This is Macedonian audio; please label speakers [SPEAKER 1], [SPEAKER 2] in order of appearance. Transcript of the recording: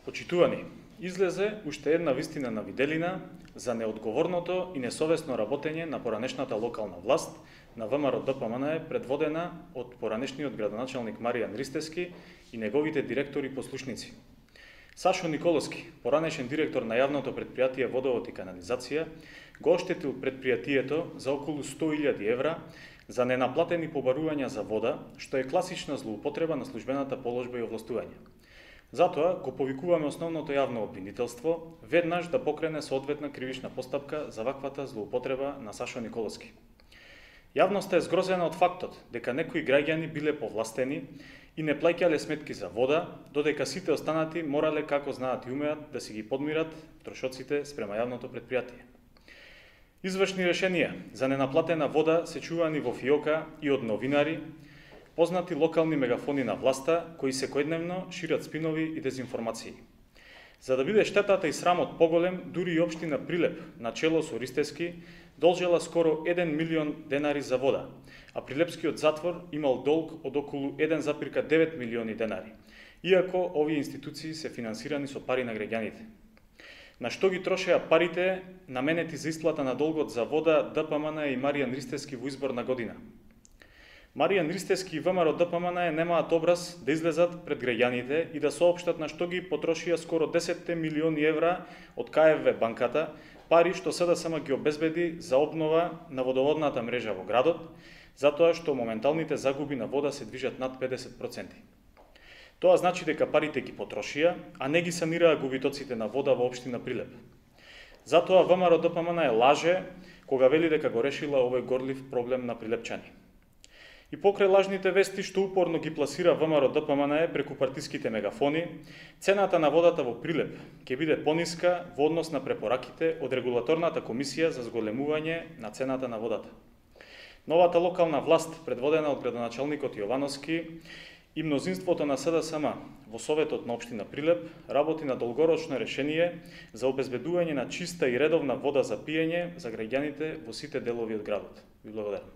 [SPEAKER 1] Почитувани, излезе уште една вистина на виделина за неодговорното и несовесно работење на поранешната локална власт на ВМРО-ДПМН предводена од поранешниот градоначалник Маријан Ристевски и неговите директори и послушници. Сашо Николовски, поранешен директор на јавното предпријатие Водовод и канализација, го оштетил предпријатието за околу 100.000 евра за ненаплатени побарувања за вода, што е класична злоупотреба на службената положба и овластување. Затоа го повикуваме основното јавно обвинителство веднаш да покрене соодветна кривична постапка за ваквата злоупотреба на Сашо Николовски. Јавноста е згрозена од фактот дека некои граѓани биле повластени и не плаќале сметки за вода, додека сите останати морале како знаат и умеат да си ги подмират трошоците спрема јавното предпријатие. Извршни решенија за ненаплатена вода се чувани во фиока и од новинари, познати локални мегафони на власта, кои секојдневно шират спинови и дезинформации. За да биде штетата и срамот поголем, дури и општина Прилеп, на чело со Ристевски, должела скоро 1 милион денари за вода, а Прилепскиот затвор имал долг од околу 1,9 милиони денари, иако овие институции се финансирани со пари на граѓаните. На што ги трошеа парите наменети за исплата на долгот за вода ДПМН и Маријан Ристевски во изборна година? Маријан Ристевски и ВМРО-ДПМН немаат образ да излезат пред граѓаните и да соопштат на што ги потрошија скоро 10 милиони евра од КФВ банката, пари што СДСМ ги обезбеди за обнова на водоводната мрежа во градот, затоа што моменталните загуби на вода се движат над 50%. Тоа значи дека парите ги потрошија, а не ги санираа губитоците на вода во општина Прилеп. Затоа ВМРО-ДПМН лаже кога вели дека го решила овој горлив проблем на прилепчани. И покрај лажните вести што упорно ги пласира ВМРО-ДПМН преку партиските мегафони, цената на водата во Прилеп ќе биде пониска во однос на препораките од Регулаторната комисија за зголемување на цената на водата. Новата локална власт, предводена од градоначалникот Јовановски и мнозинството на СДСМ во Советот на општина Прилеп, работи на долгорочно решение за обезбедување на чиста и редовна вода за пиење за граѓаните во сите делови од градот. Ви благодарам.